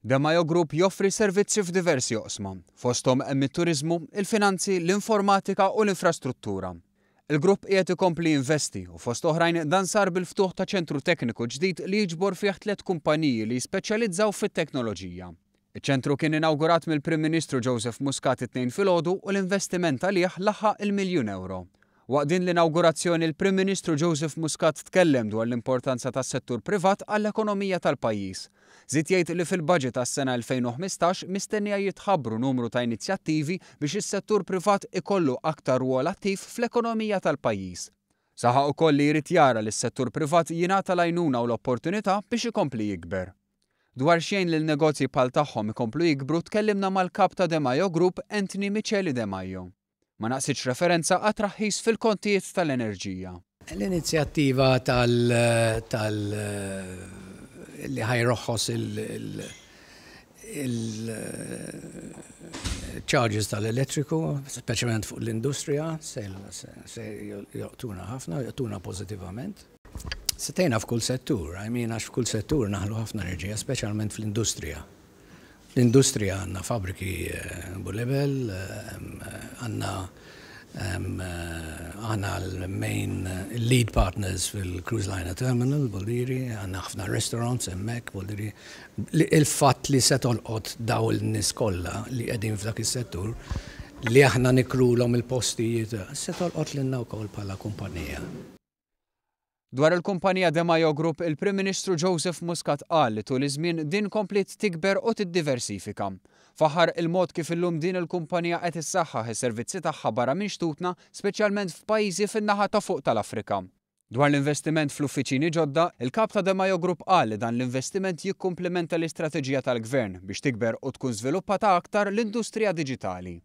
Demajo Group joffri servizzi f'diversi oqsma, fosthom hemm it-turiżmu, il-finanzi, l-informatika u l-infrastruttura. Il-grupp qiegħed ikompli jinvesti u fost oħrajn dan sar bil-ftuħ ta' ċentru tekniku ġdid li jiġbor fih tliet kumpaniji li jispeċjalizzaw fit-teknoloġija. Iċ-ċentru kien inawgurat mill-Prim Ministru Joseph Muscat it-Tnejn filgħodu u l-investiment għalih laħaq il-miljun ewro. Waqt din l-inawgurazzjoni l-Prim Ministru Joseph Muscat tkellem dwar l-importanza tas-settur privat għall-ekonomija tal-pajjiż. Żied jgħid li fil-budget għas-sena 2015 mistennija jitħabbru numru ta' inizjattivi biex is-settur privat ikollu aktar rwol attiv fl-ekonomija tal-pajjiż. Saħaq ukoll li jrid jara li s-settur privat jingħata l-għajnuna u l-opportunità biex ikompli jikber. Dwar x'jgħin lil negozji bħal tagħhom ikomplu jikbru tkellimna mal-Kap ta' Demajo Group Anthony Miceli Demajo. Ma naqsitx referenza għat-traħħis fil-kontijiet tal-enerġija. L-inizjattiva tal tal li ħa jroħħos il-charges tal-elettriku, speċjalment fuq l-industrija, se joqtuna ħafna, joqtuna pożittivament. Se tgħinna f'kull settur, I mean għax f'kull settur naħlu ħafna enerġija, speċjalment fl-industrija. Fl-industrija għandna fabbriki Bulebel, għandna aħna l-main lead partners fil-Cruise Liner Terminal, Buldiri, għandna ħafna restaurants hemmhekk, Buldiri. Il-fatt li se tolqot daw il-nies kollha li qegħdin f'dak is-settur li aħna nikrulhom il-postijiet, se tolqot lilna wkoll bħala kumpanija. Dwar il-kumpanija Demajo Group, il-Prim Ministru Joseph Muscat qal li tul iż-żmien din kompliet tikber u tiddiversifika. Faħħar il-mod kif illum din il-kumpanija qed issaħħaħ is-servizzi tagħha barra minn xtutna, speċjalment f'pajjiżi fin-naħa ta' fuq tal-Afrika. Dwar l-investiment fl-uffiċini ġodda, il-Kap ta' Demajo Group qal li dan l-investiment jikkumplimenta l-istrateġija tal-Gvern biex tikber u tkun żviluppata aktar l-industrija diġitali.